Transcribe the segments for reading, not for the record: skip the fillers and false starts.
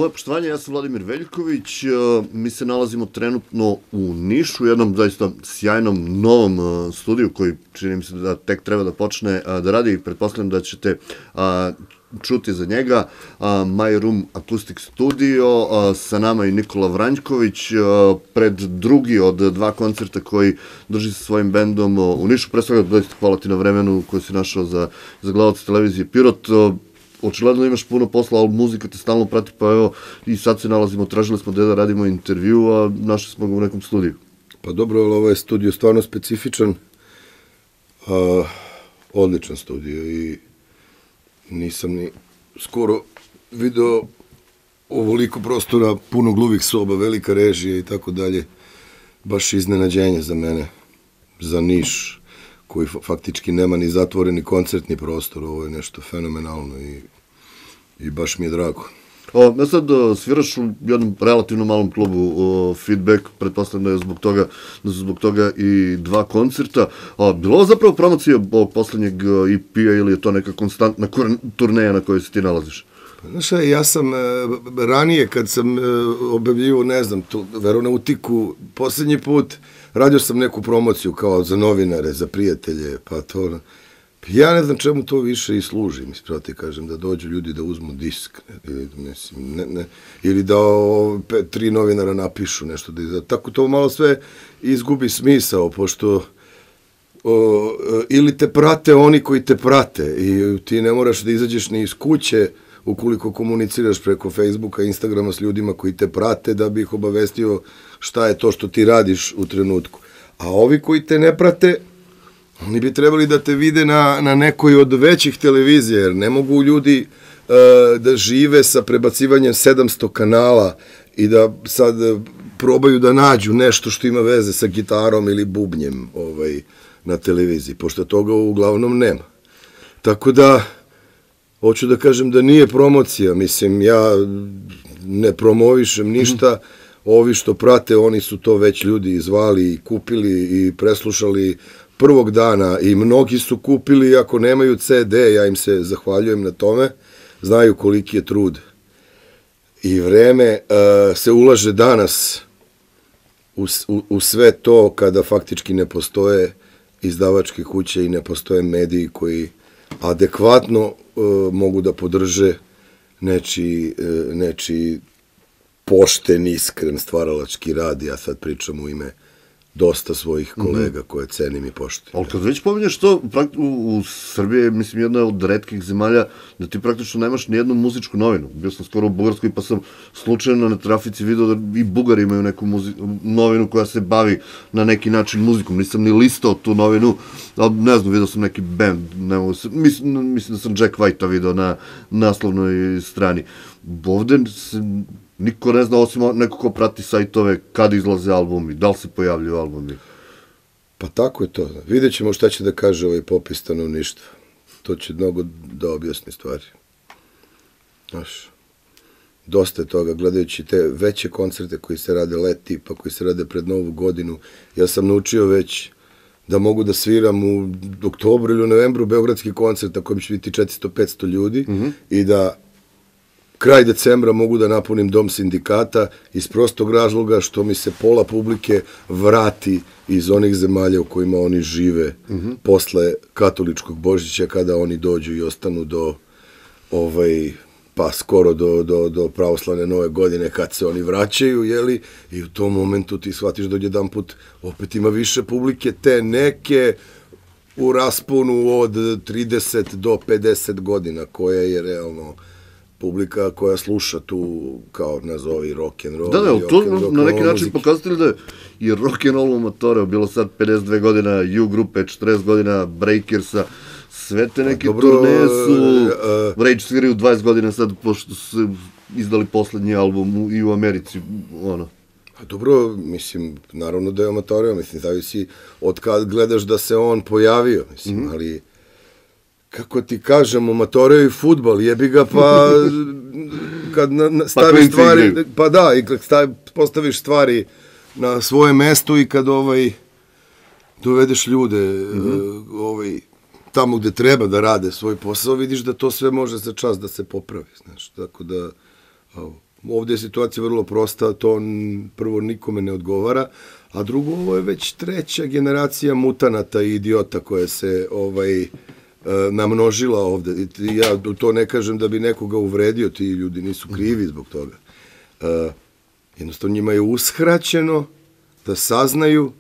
Moje poštovanje, ja sam Vladimir Veljković, mi se nalazimo trenutno u Nišu, u jednom zaista sjajnom novom studiju koji čini mi se da tek treba da počne da radi i pretpostavljam da ćete čuti za njega. My Room Acoustic Studio, sa nama i Nikola Vranjković, pred drugi od dva koncerta koji drži sa svojim bendom u Nišu. Pre svega, doista hvala ti na vremenu koje si našao za gledalce televizije Pirot. Očigledno imaš puno posla, ali muzika te stalno prati, pa evo i sad se nalazimo, tražili smo da radimo intervju, a našli smo ga u nekom studiju. Pa dobro, ali ovaj studio stvarno specifičan, odličan studio i nisam ni skoro video ovoliko prostora, puno gluvih soba, velika režija i tako dalje. Baš iznenađenje za mene, za Niš, koji faktički nema ni zatvoreni koncertni prostor. Ovo je nešto fenomenalno i baš mi je drago. Ja sad sviraš u jednom relativno malom klubu Feedback, pretpostavljam da su zbog toga i dva koncerta. Bilo ovo zapravo promocija ovog poslednjeg EP-a ili je to neka konstantna turneja na kojoj se ti nalaziš? Znaš, ja sam ranije kad sam objavljivo, ne znam, Veronautiku, poslednji put radio sam neku promociju kao za novinare, za prijatelje, pa to... Ja ne znam čemu to više i služi, mislim, ti kažem, da dođu ljudi da uzmu disk, ili da tri novinara napišu nešto, tako to malo sve izgubi smisao, pošto ili te prate oni koji te prate i ti ne moraš da izađeš ni iz kuće ukoliko komuniciraš preko Facebooka, Instagrama s ljudima koji te prate da bi ih obavestio šta je to što ti radiš u trenutku. A ovi koji te ne prate, oni bi trebali da te vide na nekoj od većih televizija, jer ne mogu ljudi da žive sa prebacivanjem 700 kanala i da sad probaju da nađu nešto što ima veze sa gitarom ili bubnjem na televiziji, pošto toga uglavnom nema. Tako da, hoću da kažem da nije promocija, mislim, ja ne promovišem ništa, ovi što prate, oni su to već ljudi izvali i kupili i preslušali prvog dana i mnogi su kupili, ako nemaju CD, ja im se zahvaljujem na tome, znaju koliki je trud i vreme se ulaže danas u sve to kada faktički ne postoje izdavačke kuće i ne postoje mediji koji adekvatno mogu da podrže nečiji pošten, iskren, stvaralački rad. Ja sad pričam u ime dosta svojih kolega koje cenim i poštujem. Ali kad već pominješ to, u Srbiji je, mislim, jedna od retkih zemalja da ti praktično nemaš nijednu muzičku novinu. Bio sam skoro u Bugarskoj pa sam slučajno na trafici video da i Bugari imaju neku novinu koja se bavi na neki način muzikom. Nisam ni listao tu novinu, ali ne znam, video sam neki band, mislim da sam Jack White-a video na naslovnoj strani. Ovde se niko ne zna, osim neko ko prati sajtove, kad izlaze albumi, da li se pojavljaju albumi. Pa tako je to. Vidjet ćemo šta će da kaže ovaj popis stanovništva. To će mnogo da objasni stvari. Znaš, dosta je toga, gledajući te veće koncerte koji se rade leti, pa koji se rade pred Novu godinu. Ja sam naučio već da mogu da sviram u oktobru ili u novembru beogradski koncert na kojem će biti 400-500 ljudi i da kraj decembra mogu da napunim Dom sindikata iz prostog razloga što mi se pola publike vrati iz onih zemalja u kojima oni žive posle katoličkog Božića, kada oni dođu i ostanu do pa skoro do pravoslavne Nove godine kad se oni vraćaju, jeli, i u tom momentu ti shvatiš da odjedan put opet ima više publike, te neke u rasponu od 30 do 50 godina, koja je realno publika koja sluša tu, kao nazovi rock'n'roll. Da, to na neki način pokazatelj da je i rock'n'roll amatora, bilo sad 52 godina U grupe, 40 godina Breakersa, sve te neke turneje su, Rage sviraju 20 godina sad, pošto su izdali poslednji album i u Americi, ono. Dobro, mislim, naravno da je amatorija, mislim, zavisi od kad gledaš da se on pojavio, mislim, ali kako ti kažem, amatorija i fudbal, jebi ga, pa kad staviš stvari, pa da, i kad postaviš stvari na svoje mesto i kad dovedeš ljude tamo gde treba da rade svoj posao, vidiš da to sve može za čas da se popravi, znaš, tako da ovde je situacija vrlo prosta, to prvo nikome ne odgovara, a drugo, ovo je već treća generacija mutanata i idiota koja se namnožila ovde. Ja to ne kažem da bi nekoga uvredio, ti ljudi nisu krivi zbog toga. Jednostavno njima je uskraćeno da saznaju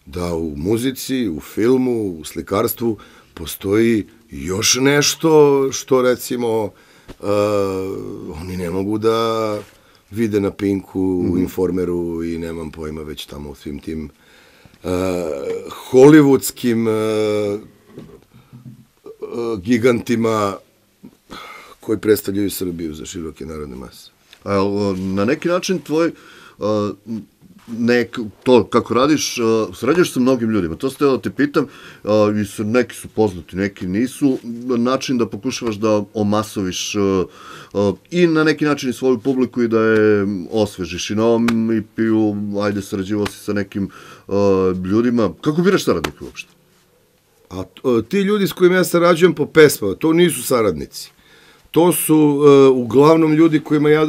da u muzici, u filmu, u slikarstvu postoji još nešto što recimo oni ne mogu da vide na Pinku, u Informeru i nemam pojma već tamo u svim tim hollywoodskim gigantima koji predstavljaju Srbiju za široke narodne mase. Na neki način tvoj to kako radiš, sređaš sa mnogim ljudima, to ste da te pitam, neki su poznati, neki nisu, način da pokušavaš da omasoviš i na neki način i svoju publiku i da je osvežiš i na ovom EP-u, ajde, sarađivao si sa nekim ljudima, kako biraš saradnike uopšte? A ti ljudi s kojima ja sarađujem po pesmama, to nisu saradnici. To su uglavnom ljudi kojima ja,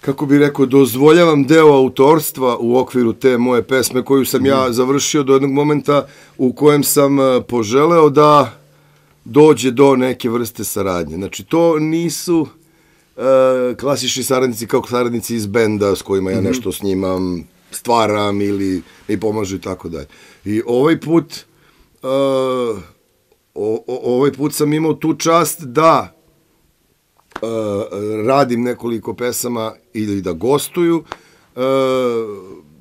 kako bih rekao, dozvoljavam deo autorstva u okviru te moje pesme koju sam ja završio do jednog momenta u kojem sam poželeo da dođe do neke vrste saradnje. Znači, to nisu klasični saradnici kao saradnici iz benda s kojima ja nešto snimam, stvaram ili mi pomažu i tako dalje. I ovaj put sam imao tu čast da radim nekoliko pesama ili da gostuju.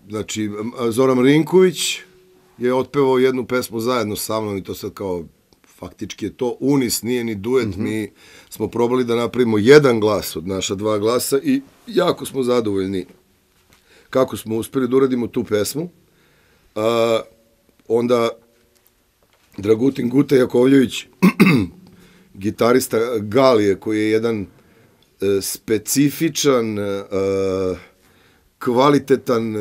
Znači, Zoran Marinković je otpevao jednu pesmu zajedno sa mnom i to sad kao, faktički je to unis, nije ni duet. Mi smo probali da napravimo jedan glas od naša dva glasa i jako smo zadovoljni kako smo uspeli da uradimo tu pesmu. Onda Dragutin Guta Jakovljević, gitarista Galije, koji je jedan specifičan, kvalitetan,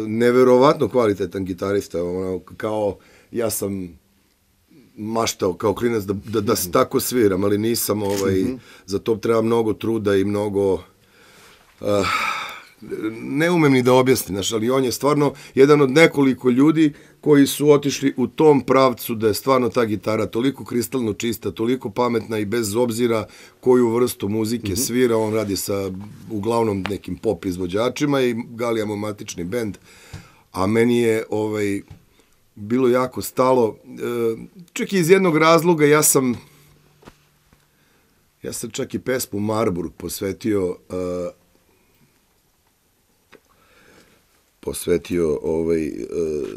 neverovatno kvalitetan gitarista. Kao, ja sam maštao kao klinac da se tako sviram, ali nisam, za to treba mnogo truda i mnogo... Ne umem ni da objasnim, ali on je stvarno jedan od nekoliko ljudi koji su otišli u tom pravcu da je stvarno ta gitara toliko kristalno čista, toliko pametna i bez obzira koju vrstu muzike svira, on radi sa uglavnom nekim pop izvođačima i Galija mu matični bend, a meni je bilo jako stalo, čak i iz jednog razloga, ja sam čak i pesmu Marburg posvetio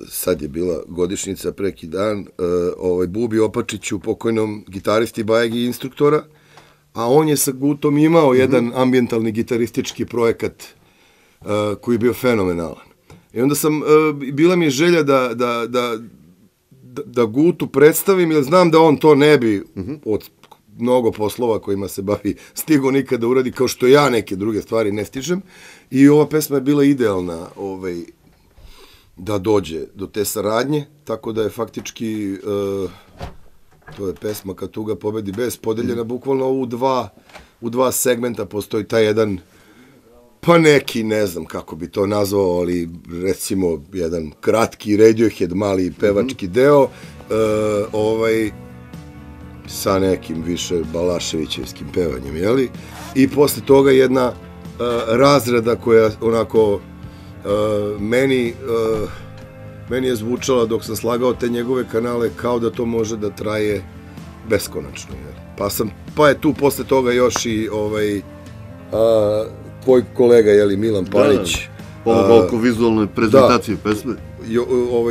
sad je bila godišnjica preki dan, Bubi Opačiću, pokojnom gitaristi Bajegi instruktora, a on je sa Gutom imao jedan ambijentalni gitaristički projekat koji je bio fenomenalan. I onda bila mi je želja da Gutu predstavim, jer znam da on to ne bi od mnogo poslova kojima se bavi stigo nikada uradi, kao što ja neke druge stvari ne stižem. I ova pesma je bila idealna da dođe do te saradnje, tako da je faktički, to je pesma Kad tuga pobedi bes, podeljena bukvalno u dva segmenta. Postoji taj jedan, pa neki, ne znam kako bi to nazvao, ali recimo jedan kratki Radiohead, mali pevački deo, sa nekim više Balaševićevskim pevanjem, jeli? I posle toga jedna razrada koja onako meni je zvučala dok sam slagao te njegove kanale kao da to može da traje beskonačno. Pa je tu posle toga još i tvoj kolega, Milan Panić, pomogao oko vizualne prezentacije pesme.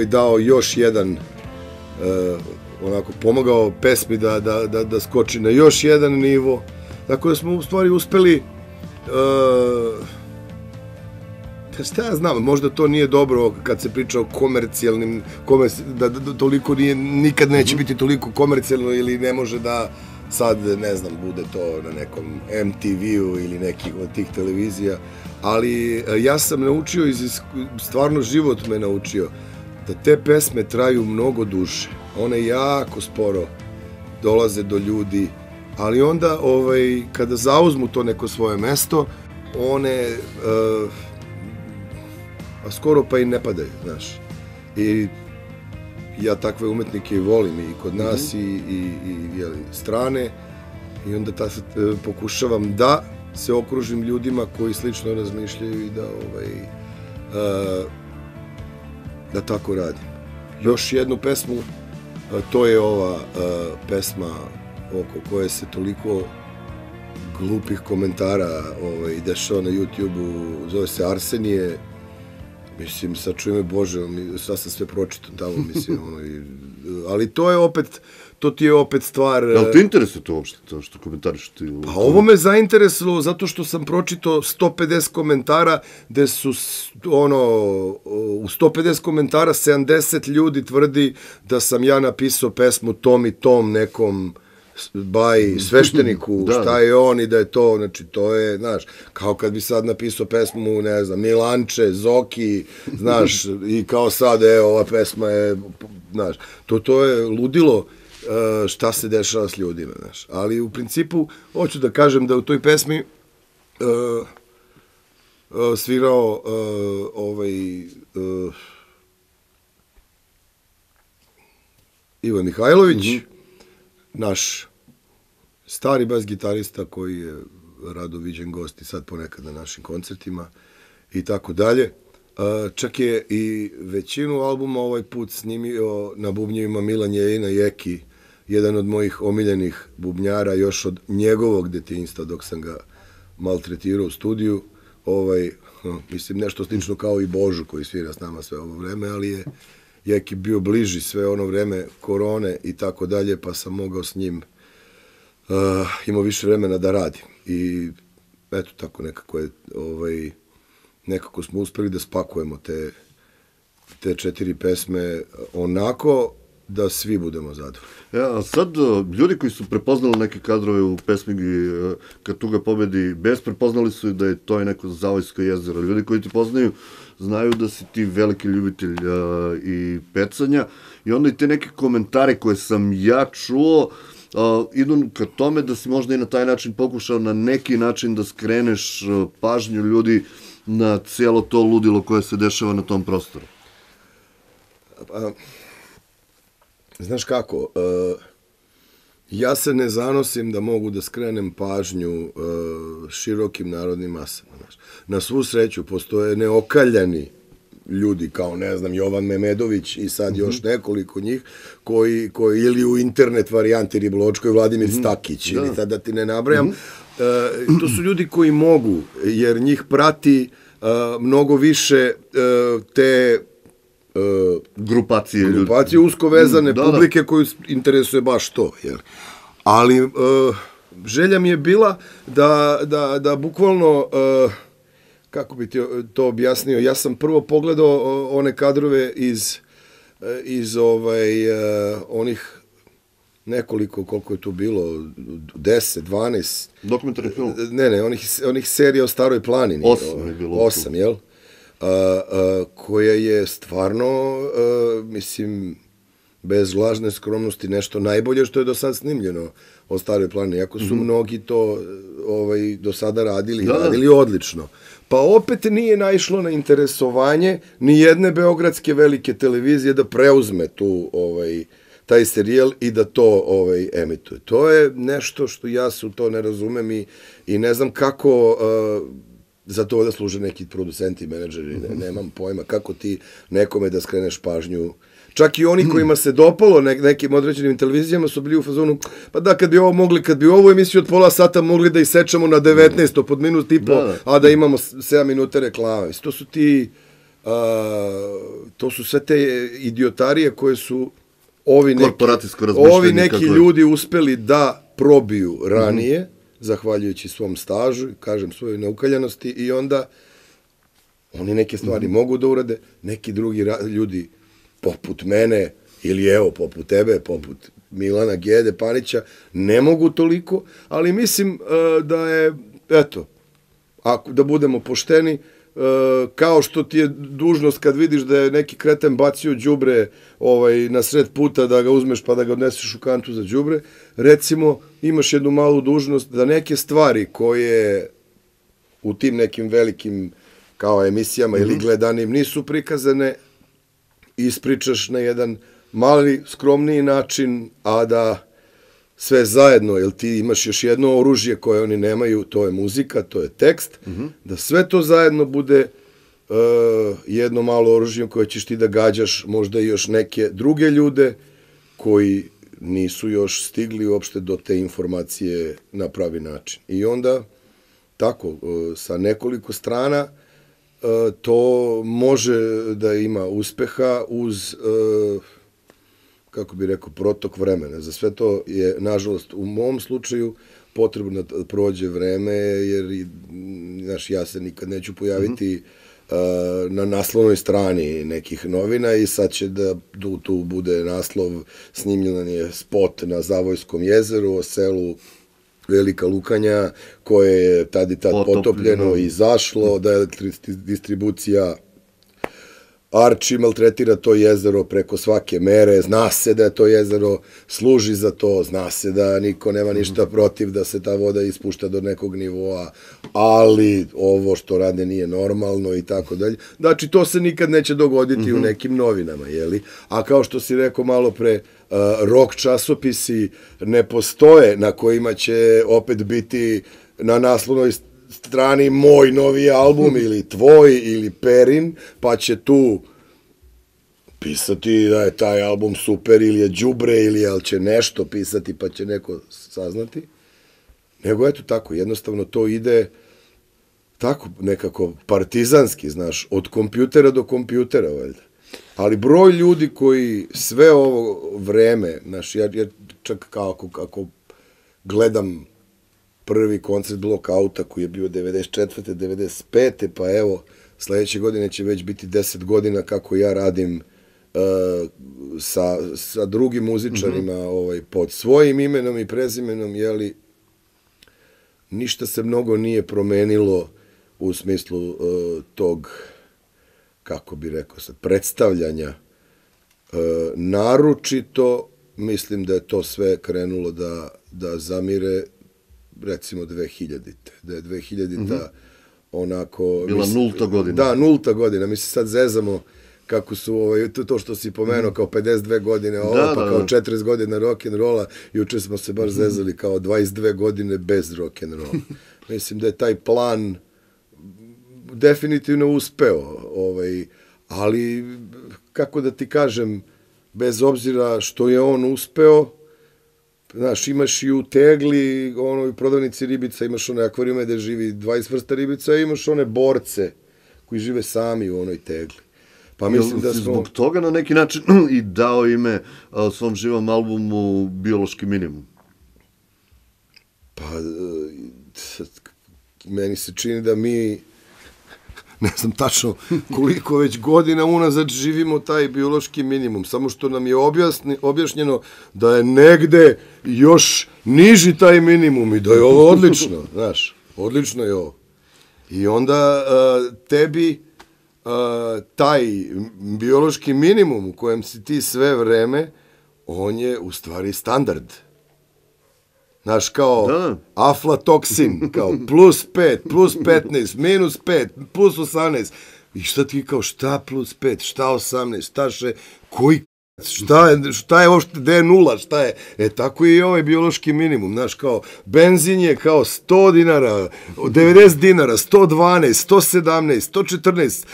Dao još jedan, onako pomogao pesmi da skoči na još jedan nivo. Tako da smo u stvari uspeli, šta ja znam, možda to nije dobro kad se priča o komercijalnim, da toliko nikad neće biti toliko komercijalno ili ne može da sad, ne znam, bude to na nekom MTV-u ili nekih od tih televizija, ali ja sam naučio, stvarno život me naučio, da te pesme traju mnogo duže. One jako sporo dolaze do ljudi, ali onda kada zauzmu to neko svoje mesto, one skoro pa i ne padaju, znaš. I ja takve umetnike i volim i kod nas i strane, i onda pokušavam da se okružim ljudima koji slično razmišljaju i da tako radim. Još jednu pesmu, to je ova pesma oko koje se toliko glupih komentara dešava na YouTube-u, zove se Arsenije. Mislim, sačuj me Bože, šta sam sve pročitao tamo, mislim, ali to ti je opet stvar... Ali te interesuje to uopšte, to što komentariš ti? Pa ovo me zainteresovalo zato što sam pročitao 150 komentara, gde su, u 150 komentara 70 ljudi tvrdi da sam ja napisao pesmu tom i tom nekom svešteniku, šta je on i da je to, znači to je, znaš, kao kad bi sad napisao pesmu, ne znam, Milanče, Zoki, znaš, i kao sad, ova pesma je, znaš, to je ludilo šta se dešava s ljudima, znaš, ali u principu, hoću da kažem da u toj pesmi svirao Ivan Mihajlović, naš stari bas gitarista koji je rado viđen gost i sad ponekad na našim koncertima i tako dalje. Čak je i većinu albuma ovaj put snimio na bubnjevima Milan Jeljina Jeki, jedan od mojih omiljenih bubnjara još od njegovog detinjstva dok sam ga maltretirao u studiju. Mislim, nešto slično kao i Božu koji svira s nama sve ovo vreme, ali je Jeki bio bliži sve ono vreme korone i tako dalje, pa sam mogao s njim imao više vremena da radim. I eto, tako nekako je, nekako smo uspeli da spakujemo te 4 pesme onako da svi budemo zadovoljni. A sad, ljudi koji su prepoznali neke kadrove u pesmi Kad tuga pobedi bes, prepoznali su da je to neko Zavojsko jezero. Ljudi koji ti poznaju znaju da si ti veliki ljubitelj i pecanja, i onda i te neke komentare koje sam ja čuo idu ka tome da si možda i na taj način pokušao na neki način da skreneš pažnju ljudi na cijelo to ludilo koje se dešava na tom prostoru. Znaš kako, ja se ne zanosim da mogu da skrenem pažnju širokim narodnim masama. Na svu sreću postoje neokaljani ljudi kao, ne znam, Jovan Memedović i sad još nekoliko njih koji ili u internet varijanti Ribločkoj, Vladimir Stakić, ili sad da ti ne nabrajam. To su ljudi koji mogu, jer njih prati mnogo više te grupacije usko vezane publike koju interesuje baš to. Ali želja mi je bila da bukvalno, kako bi ti to objasnio, ja sam prvo pogledao one kadrove iz onih nekoliko, koliko je tu bilo, 10, 12... Dokumentarni film? Ne, onih serija o Staroj planini. 8 je bilo. 8, jel? Koja je stvarno, mislim, bez lažne skromnosti nešto najbolje što je do sad snimljeno o Staroj planini. Iako su mnogi to do sada radili odlično. Pa opet nije naišlo na interesovanje ni jedne beogradske velike televizije da preuzme taj serijal i da to emituje. To je nešto što ja se u to ne razumem i ne znam kako za to da služe neki producenti i menadžeri. Nemam pojma kako ti nekome da skreneš pažnju. Čak i oni kojima se dopalo nekim određenim televizijama su bili u fazonu, pa da, kad bi ovu emisiju od pola sata mogli da isečemo na 19 pod minut i po, a da imamo 7 minuta reklame. To su sve te idiotarije koje su ovi neki ljudi uspeli da probiju ranije, zahvaljujući svom stažu, kažem, svojoj neukaljanosti, i onda oni neke stvari mogu da urade, neki drugi ljudi poput mene, ili evo, poput tebe, poput Milana Gede, Panića, ne mogu toliko, ali mislim da je, eto, da budemo pošteni, kao što ti je dužnost kad vidiš da je neki kreten bacio đubre na sred puta da ga uzmeš pa da ga odneseš u kantu za đubre, recimo imaš jednu malu dužnost da neke stvari koje u tim nekim velikim kao emisijama ili gledanim nisu prikazane, ispričaš na jedan mali, skromniji način, a da sve zajedno, jer ti imaš još jedno oružje koje oni nemaju, to je muzika, to je tekst, da sve to zajedno bude jedno malo oružje koje ćeš ti da gađaš možda i još neke druge ljude koji nisu još stigli uopšte do te informacije na pravi način. I onda, tako, sa nekoliko strana, to može da ima uspeha uz, kako bih rekao, protok vremena. Za sve to je, nažalost, u mom slučaju potrebno da prođe vreme, jer, znaš, ja se nikad neću pojaviti na naslovnoj strani nekih novina i sad će da tu bude naslov, snimljen je spot na Zavojskom jezeru o selu Velika Lukanja, koje je tad i tad potopljeno i izašlo, da je distribucija Arči maltretira to jezero preko svake mere, zna se da je to jezero služi za to, zna se da niko nema ništa protiv da se ta voda ispušta do nekog nivoa, ali ovo što rade nije normalno i tako dalje. Znači, to se nikad neće dogoditi u nekim novinama, jeli? A kao što si rekao malo pre, rock časopisi ne postoje na kojima će opet biti na naslovnoj strani moj novi album ili tvoj ili Perin, pa će tu pisati da je taj album super ili je đubre ili će nešto pisati pa će neko saznati. Nego eto tako, jednostavno to ide tako nekako partizanski, znaš, od kompjutera do kompjutera, valjda. Ali broj ljudi koji sve ovo vreme, znaš, ja čak kako gledam prvi koncert Blockouta koji je bio 94. 95. pa evo, sledeće godine će već biti 10 godina kako ja radim sa drugim muzičarima pod svojim imenom i prezimenom, jeli, ništa se mnogo nije promenilo u smislu tog, kako bi rekao sad, predstavljanja. Naročito, mislim da je to sve krenulo da zamire recimo 2000-te, da je 2000-ta onako... Bila nulta godina. Da, nulta godina. Mi se sad zezamo kako su, to što si pomenuo, kao 52 godine ovo, pa kao 40 godina rock'n'rolla, juče smo se baš zezali kao 22 godine bez rock'n'rolla. Mislim da je taj plan definitivno uspeo, ali, kako da ti kažem, bez obzira što je on uspeo, znaš, imaš i u tegli, u prodavnici ribica, imaš one akvarijume gde živi 20 vrsta ribica, i imaš one borce koji žive sami u onoj tegli. Pa mislim da smo... Zbog toga na neki način i dao ime svom živom albumu Biološki minimum. Pa, meni se čini da mi, ne znam tačno koliko već godina unazad živimo taj biološki minimum, samo što nam je objašnjeno da je negde još niži taj minimum i da je ovo odlično, znaš, odlično je ovo. I onda tebi taj biološki minimum u kojem si ti sve vreme, on je u stvari standard. Znaš, kao aflatoksin, kao plus 5, plus 15, minus 5, plus 18. I šta ti kao, šta plus 5, šta 18, šta še, koji šta je uopšte, gde je nula, šta je? Tako je i ovaj biološki minimum, znaš, kao, benzin je kao 100 dinara, 90 dinara, 112, 117, 114,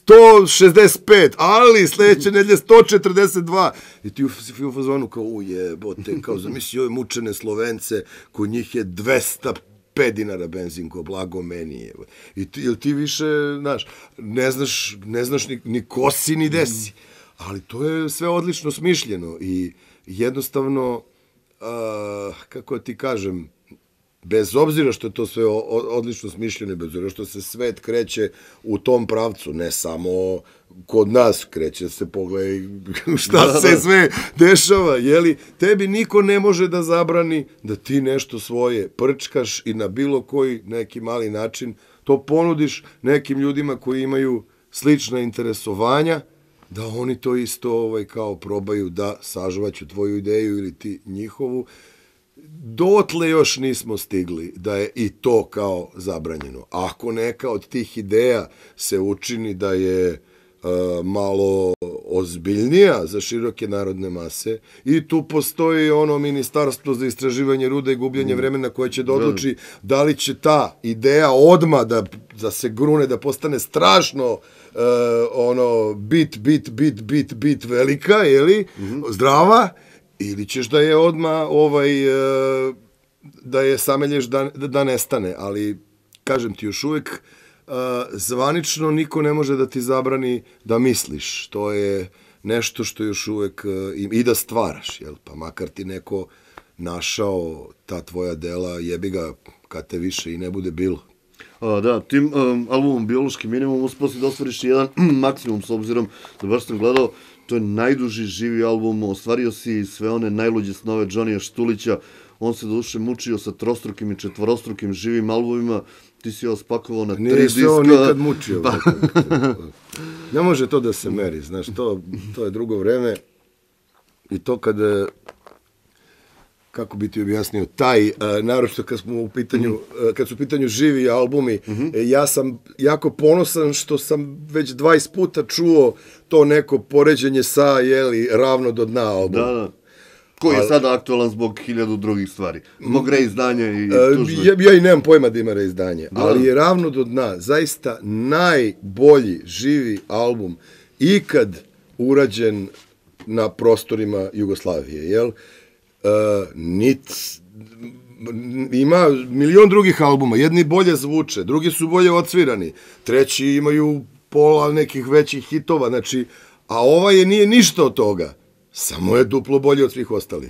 165, ali sledeće nedelje 142. I ti u fazonu kao, ujebote, kao, zamisli ove mučene Slovence, kod njih je 205 dinara benzin, ko blago meni je. I ti više, znaš, ne znaš ni ko si, ni desi. Ali to je sve odlično smišljeno i jednostavno, kako ti kažem, bez obzira što je to sve odlično smišljeno i bez obzira što se svet kreće u tom pravcu, ne samo kod nas kreće se, pogledaj šta se sve dešava, jeli, tebi niko ne može da zabrani da ti nešto svoje prčkaš i na bilo koji neki mali način to ponudiš nekim ljudima koji imaju slična interesovanja, da oni to isto kao probaju da sažvaću tvoju ideju ili ti njihovu. dotle još nismo stigli da je i to kao zabranjeno. Ako neka od tih ideja se učini da je malo ozbiljnija za široke narodne mase i tu postoji ono ministarstvo za istraživanje ruda i gubljenje vremena koje će da odluči da li će ta ideja odma da se grune, da postane strašno ono bit velika, jeli, zdrava, ili ćeš da je odma da je samelješ da nestane, ali kažem ti još uvek zvanično niko ne može da ti zabrani da misliš. To je nešto što još uvek i da stvaraš, jel? Pa makar ti neko našao ta tvoja dela, jebi ga kad te više i ne bude bilo. Da, tim albumom Biološki minimum uspio si da ostvariš jedan maksimum, s obzirom da baš sam gledao, to je najduži živi album, ostvario si sve one najluđe snove Johnnyja Štulića, on se duše mučio sa trostrukim i četvorostrukim živim albumima, ti si ovo spakovao na 3 diska. Nije se on nikad mučio. Ne može to da se meri, znaš, to je drugo vreme i to kada, kako bi ti objasnio, taj, naročito kad su u pitanju živi albumi, ja sam jako ponosan što sam već 20 puta čuo to neko poređenje sa, jeli, Ravno do dna album. Da. Koji je sada aktualan zbog 1000 drugih stvari. Zbog reizdanja i tužno. Ja i nemam pojma da ima reizdanje, ali je Ravno do dna zaista najbolji živi album ikad urađen na prostorima Jugoslavije, jel? Ima milion drugih albuma, jedni bolje zvuče, drugi su bolje odsvirani, treći imaju pola nekih većih hitova, znači, a ovaj nije ništa od toga. Samo je duplo bolje od svih ostalih.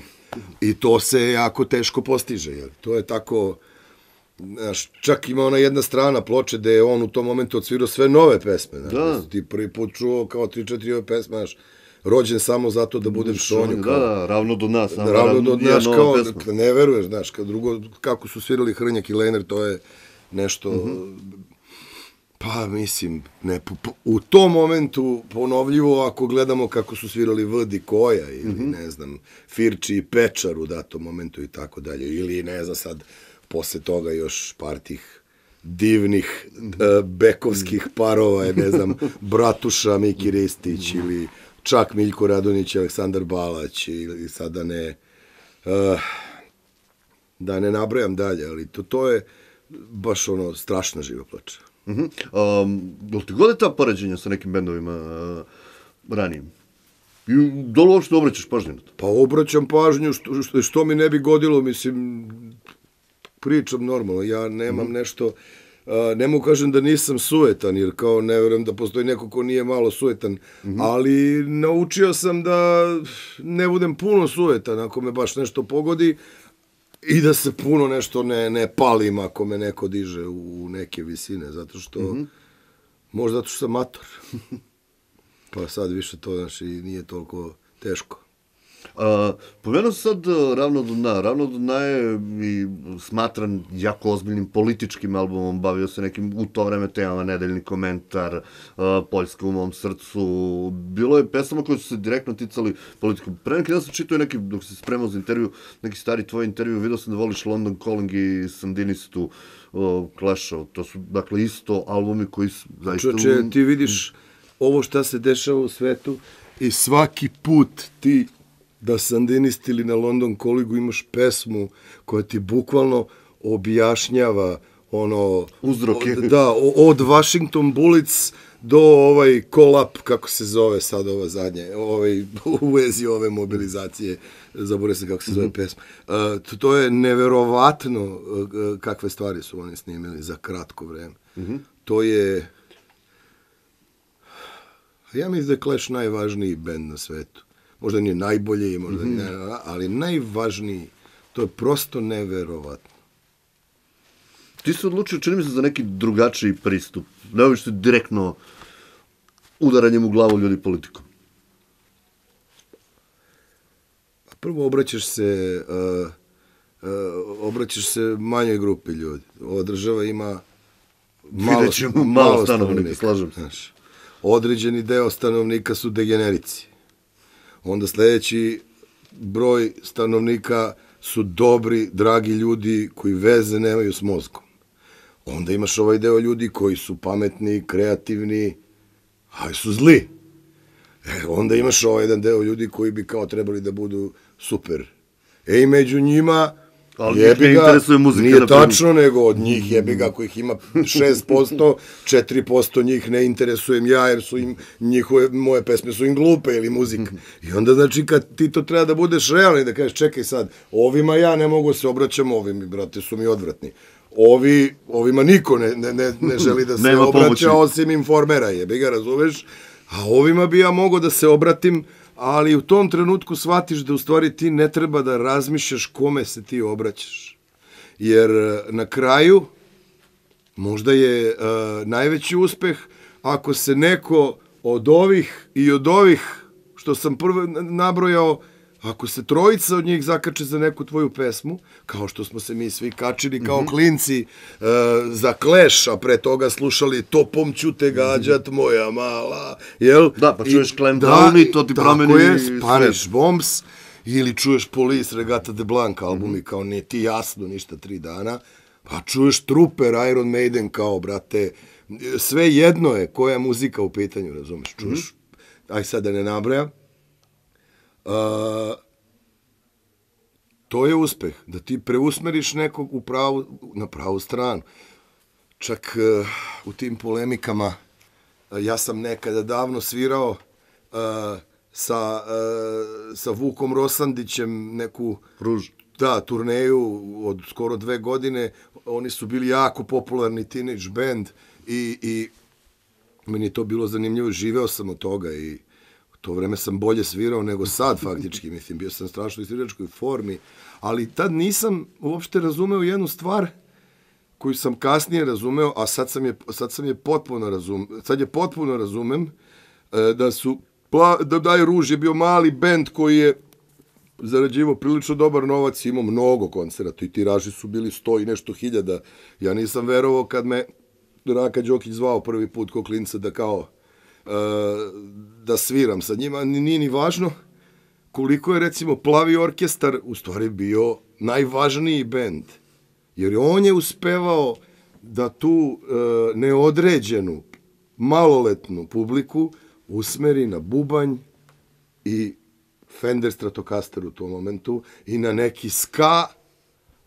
I to se jako teško postiže. Jer to je tako, znaš, čak ima ona jedna strana ploče gde je on u tom momentu odsvirao sve nove pesme. Znaš, ti prvi put čuo kao 3-4 ove pesme, znaš, rođen samo zato da budem Šonju. Da, Ravno do dna. Ravno do dna, kao, ne veruješ, znaš, drugo, kako su svirali Hrnjak i Lener, to je nešto... Pa, mislim, u tom momentu ponovljivo, ako gledamo kako su svirali Vd i Koja, ili, ne znam, Firči i Pečar u datom momentu i tako dalje, ili, ne znam, sad, posle toga još par tih divnih bekovskih parova, ne znam, Bratuša, Miki Ristić, ili čak Miljko Radonjić, Aleksandar Balać, ili sad da ne nabrajam dalje, ali to je baš ono strašna živa ploča. Jel ti gode ta poređenja sa nekim bendovima ranijim? Da li uopšte obraćaš pažnju na to? Pa obraćam pažnju, što mi ne bi godilo, mislim, pričam normalno, ja nemam nešto, ne mogu kažem da nisam sujetan, jer kao ne verujem da postoji neko ko nije malo sujetan, ali naučio sam da ne budem puno sujetan ako me baš nešto pogodi, i da se puno nešto ne palim ako me neko diže u neke visine, zato što, možda zato što sam mator. Pa sad više to, znači, nije toliko teško. Pomenuo sad Ravno do dna. Ravno do dna je i smatran jako ozbiljnim političkim albumom, bavio se nekim u to vreme temama, Nedeljni komentar, Poljska u mom srcu. Bilo je pesama koje su se direktno ticali politiku. Pre neki dan sam čitao neki, dok se spremao za intervju, neki stari tvoj intervju, vidio sam da voliš London Calling i Sandinistu, Clash-ov. To su, dakle, isto albumi koji su zaista... Čoče, ti vidiš ovo šta se dešava u svetu i svaki put ti da Sandinisti ili na London Callingu imaš pesmu koja ti bukvalno objašnjava ono... Uzroke. Da, od Washington Bullets do Call Up, kako se zove sad ova zadnje, u vezi ove mobilizacije, zaboravio sam kako se zove pesma. To je neverovatno kakve stvari su oni snimili za kratko vreme. To je... Ja mislim da je Clash najvažniji bend na svetu. Možda nije najbolji, možda nije, ali najvažniji, to je prosto neverovatno. Ti se odlučio, čini mi se, za neki drugačiji pristup. Ne oviš se direktno udaranjem u glavu ljudi politikom. Prvo obraćaš se manjoj grupi ljudi. Ova država ima malo stanovnika, slažem se. Određeni deo stanovnika su degenerici. Onda sledeći broj stanovnika su dobri, dragi ljudi koji veze nemaju s mozgom. Onda imaš ovaj deo ljudi koji su pametni, kreativni, ali su zli. Onda imaš ovaj jedan deo ljudi koji bi kao trebali da budu super. I među njima, jebi ga, nije tačno, nego od njih jebi ga kojih ima 6%, 4% njih ne interesujem ja, jer su im moje pesme su im glupe ili muzika. I onda znači kad ti to treba da budeš realni, da kažeš čekaj sad, ovima ja ne mogu se obraćam, ovim, brate, su mi odvratni. Ovima niko ne želi da se obraća osim Informera, jebi ga, razumeš? A ovima bi ja mogao da se obratim, ali u tom trenutku shvatiš da u stvari ti ne treba da razmišljaš kome se ti obraćaš. Jer na kraju možda je najveći uspeh ako se neko od ovih i od ovih što sam prvo nabrojao, ako se trojica od njih zakače za neku tvoju pesmu, kao što smo se mi svi kačili kao klinci za Clash, a pre toga slušali Topom ću te gađat moja mala, jel? Da, pa čuješ Clem Down i to ti promeni sve. Tako je, Spanish Bombs, ili čuješ Police, Regata de Blanc albumi, kao nije ti jasno ništa 3 dana, pa čuješ Trooper, Iron Maiden, kao, brate, sve jedno je koja je muzika u pitanju, razumeš, čuješ, aj sad da ne nabrajam, to je uspeh, da ti preusmeriš nekog na pravu stranu. Čak u tim polemikama, ja sam nekada davno svirao sa Vukom Rosandićem neku turneju od skoro 2 godine. Oni su bili jako popularni teenage band i meni je to bilo zanimljivo, živeo sam od toga i to vreme sam bolje svirao nego sad, faktički, mislim, bio sam strašno u sviračkoj formi, ali tad nisam uopšte razumeo jednu stvar koju sam kasnije razumeo, a sad je potpuno razumem, da Daj Ruž je bio mali bend koji je zarađivao prilično dobar novac, imao mnogo koncerata i tiraži su bili 100 i nešto hiljada. Ja nisam verovao kad me Raka Đokić zvao prvi put ko klinca da kao da sviram sa njima, nije ni važno koliko je recimo Plavi orkestar u stvari bio najvažniji bend, jer on je uspevao da tu neodređenu maloletnu publiku usmeri na bubanj i Fender Stratocaster u tom momentu i na neki ska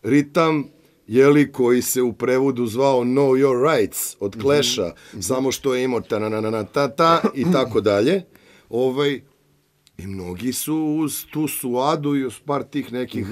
ritam, jeli, koji se u prevodu zvao Know Your Rights od Clash-a, samo što je imao ta i tako dalje. I mnogi su uz tu suadu i uz par tih nekih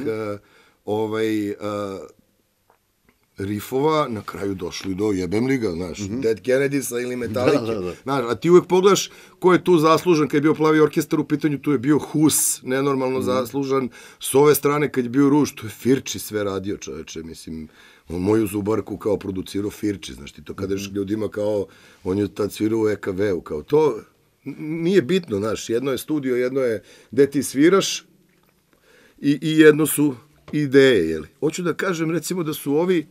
rifova na kraju došli do jebem li ga, znaš, Dead Kennedys-a ili Metallica. A ti uvek pogledaš ko je tu zaslužan kad je bio Plavi orkestar u pitanju, tu je bio Hus, nenormalno zaslužan. S ove strane kad je bio Ruž, tu je Firči sve radio, čoveče, mislim, on moju Zubarku kao producirao Firči, znaš ti to kada ješ ljudima kao, on je tad svirao u EKV-u, kao to nije bitno, znaš, jedno je studio, jedno je gde ti sviraš i jedno su ideje, jeli. Hoću da kažem, recimo, da su ovi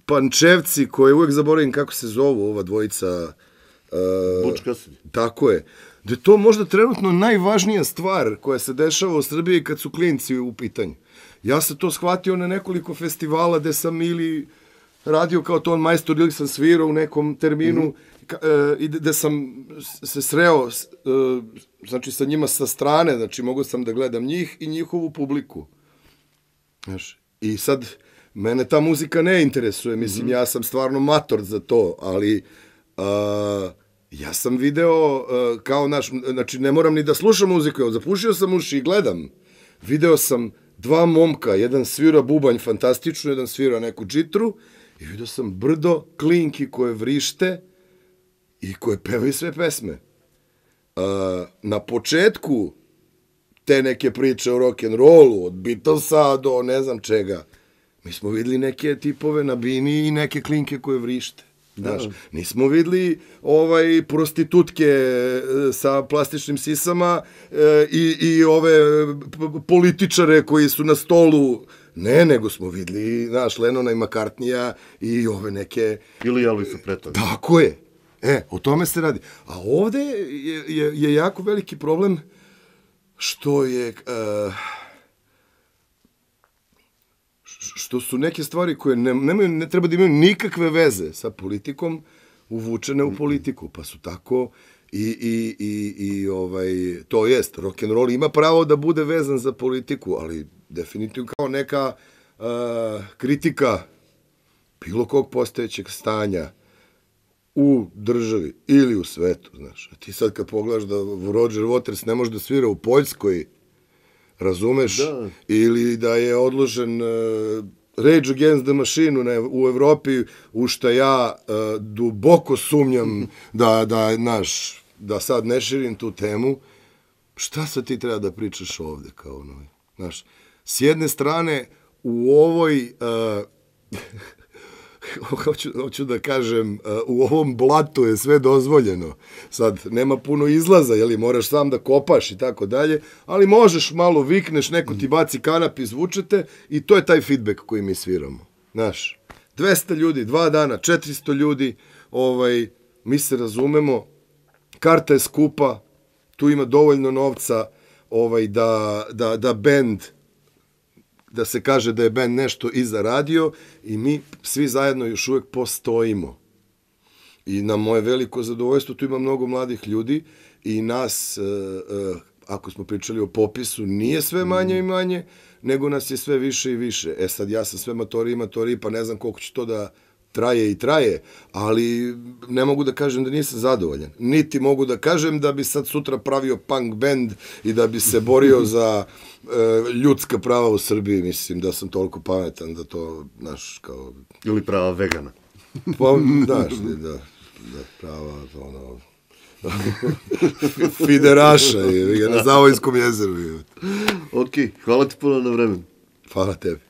Pančevci, koje uvek zaboravim kako se zovu, ova dvojica... Bučkasi. Tako je. Da je to možda trenutno najvažnija stvar koja se dešava u Srbiji kad su klinci u pitanju. Ja sam to shvatio na nekoliko festivala gde sam ili radio kao ton majstor ili sam svirao u nekom terminu i gde sam se sreo znači sa njima sa strane, znači mogao sam da gledam njih i njihovu publiku. Znaš, i sad mene ta muzika ne interesuje, mislim, ja sam stvarno mator za to, ali ja sam video kao naš, znači ne moram ni da slušam muziku, zapušio sam uši i gledam. Video sam 2 momka, jedan svira bubanj fantastično, jedan svira neku džitru i video sam brdo klinki koje vrište i koje pevaju sve pesme. Na početku te neke priče o rock'n'rollu, od Beatlesa do ne znam čega, mi smo videli neke tipove na bini i neke klinke koje vrište. Znaš, nismo videli prostitutke sa plastičnim sisama i ove političare koji su na stolu. Ne, nego smo videli, znaš, Lenona i McCartneya i ove neke... Ili Elvisa Preslija. Tako je. O tome se radi. A ovde je jako veliki problem što je... što su neke stvari koje ne treba da imaju nikakve veze sa politikom, uvučene u politiku, pa su tako to jest, rock'n'roll ima pravo da bude vezan za politiku, ali definitivno kao neka kritika bilo kog postojećeg stanja u državi ili u svetu, znaš. A ti sad kad pogledaš da Roger Waters ne može da svira u Poljskoj, razumeš, ili da je odložen Rage Against the Machine u Evropi, u šta ja duboko sumnjam da sad ne širim tu temu, šta sad ti treba da pričaš ovde, kao znaš, s jedne strane, u ovoj, hoću da kažem, u ovom blatu je sve dozvoljeno. Sad, nema puno izlaza, jeli, moraš sam da kopaš i tako dalje, ali možeš malo vikneš, neko ti baci kanap, izvučete i to je taj feedback koji mi sviramo. Znaš, 200 ljudi, 2 dana, 400 ljudi, mi se razumemo, karta je skupa, tu ima dovoljno novca da bend, da se kaže da je bend nešto i zaradio i mi svi zajedno još uvek postojimo. I na moje veliko zadovoljstvo tu ima mnogo mladih ljudi i nas, ako smo pričali o popisu, nije sve manje i manje, nego nas je sve više i više. E sad, ja sam sve matoriji, pa ne znam koliko će to da traje, ali ne mogu da kažem da nisam zadovoljan. Niti mogu da kažem da bi sad sutra pravio punk band i da bi se borio za ljudska prava u Srbiji. Mislim da sam toliko pametan da to, znaš, kao... Ili prava vegana. Pa, znaš, da prava, fideraša je na Zavojskom jezeru. Ok, hvala ti puno na vremenu. Hvala tebi.